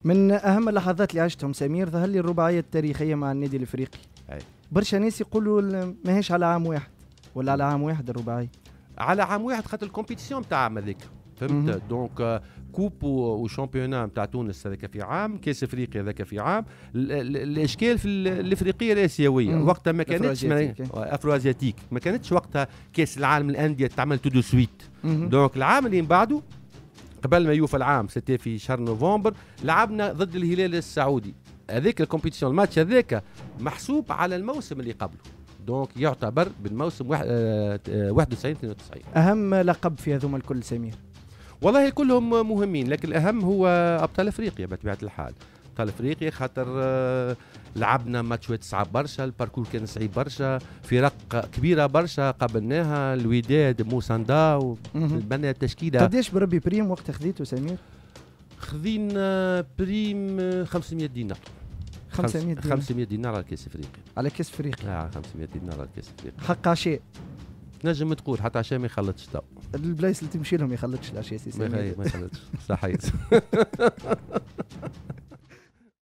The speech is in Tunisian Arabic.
من اهم اللحظات اللي عشتهم سمير ظهر لي الرباعية التاريخية مع النادي الافريقي. برشا ناس يقولوا ماهيش على عام واحد ولا على عام واحد الرباعيه. على عام واحد خاطر ال compétition تاع عام هذيك، فهمت؟ donc coupe و championnat نتاع تونس هذاك في عام، كاس افريقيا هذاك في عام. الاشكال في الافريقية الاسيوية وقتها ما كانتش afro-asiatique، ما كانتش وقتها كاس العالم للاندية تعمل tout de suite. donc العام اللي من بعده قبل ما يوفى العام، c'était في شهر نوفمبر، لعبنا ضد الهلال السعودي. هذيك ال compétition، الماتش هذاك محسوب على الموسم اللي قبله، donc يعتبر بالموسم 91 92. اهم لقب في هذوما الكل سمير؟ والله كلهم مهمين، لكن الاهم هو ابطال افريقيا بطبيعة الحال. ابطال افريقيا خاطر لعبنا ماتشات صعب برشا، ال parcours كان صعيب برشا، فرق كبيرة برشا قابلناها، الوداد، موساندا، بنى التشكيله. قداش بربي prime وقت خذيته سمير؟ خذينا prime 500 دينار. 500 دينار؟ 500 دينار على كاس افريقيا. على كاس افريقيا. 500 دينار على كاس افريقيا. حق عشاء. نجم تقول حتى عشاء ما يخلطش تو. البلايص اللي تمشي لهم يخلطش العشاء سي سمير. ما يخلطش، صحيح.